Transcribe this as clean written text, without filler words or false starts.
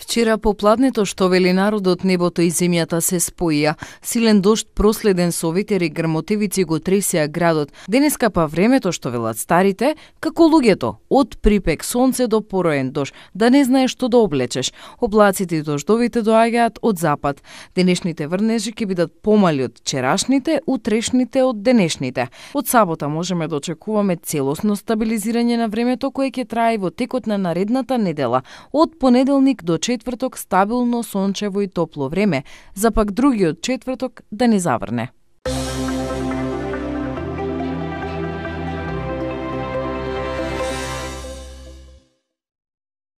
Вчера попладнето, што вели народот, небото и земјата се споија. Силен дожд проследен со ветер и грмотевици го тресеа градот. Денеска па времето, што велат старите, како луѓето, од припек сонце до пороен дожд, да не знаеш што да облечеш. Облаците и дождовите доаѓаат од запад. Денешните врнежи ќе бидат помали од вчерашните, утрешните од денешните. Од сабота можеме да очекуваме целосно стабилизирање на времето кое ќе трае во текот на наредната недела. Од понеделник до четврток стабилно сончево и топло време, за пак другиот четврток да не заврне.